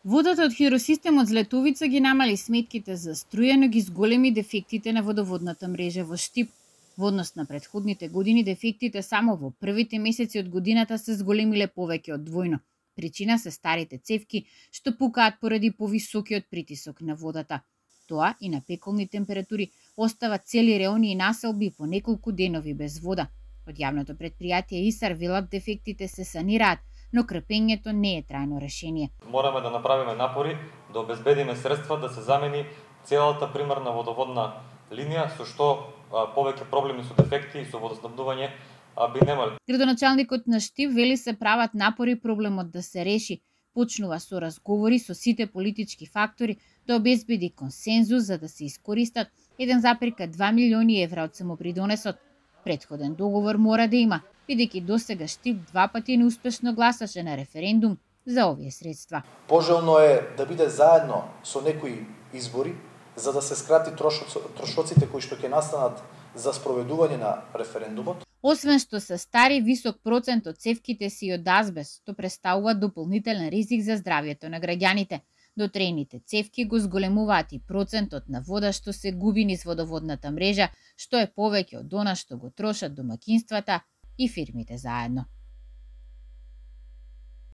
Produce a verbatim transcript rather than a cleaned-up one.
Водата од хидросистемот Злетовица ги намали сметките за струја, но ги зголеми дефектите на водоводната мрежа во Штип. Во однос на претходните години, дефектите само во првите месеци од годината се зголемиле повеќе од двојно. Причина се старите цевки, што пукаат поради повисокиот притисок на водата. Тоа и на пеколни температури остава цели реони и населби по неколку денови без вода. Од јавното претпријатие ИСАР велат дефектите се санираат, но крпењето не е трајно решение. Мораме да направиме напори да обезбедиме средства да се замени целата примарна водоводна линија, со што а, повеќе проблеми со дефекти и со водоснабдување а, би немале. Градоначалникот на Штип вели се прават напори проблемот да се реши. Почнува со разговори со сите политички фактори да обезбеди консензус за да се искористат еден запирка два милиони евра од самопридонесот. Претходен договор мора да има, бидејќи досега Штип два пати неуспешно гласаше на референдум за овие средства. Пожелно е да биде заедно со некои избори, за да се скрати трошоците кои што ќе настанат за спроведување на референдумот. Освен што се стари, висок процент од цевките си од азбест, што представува дополнителен ризик за здравјето на граѓаните. Дотрените цевки го зголемуваат и процентот на вода што се губи низ водоводната мрежа, што е повеќе од она што го трошат домаќинствата и фирмите заедно.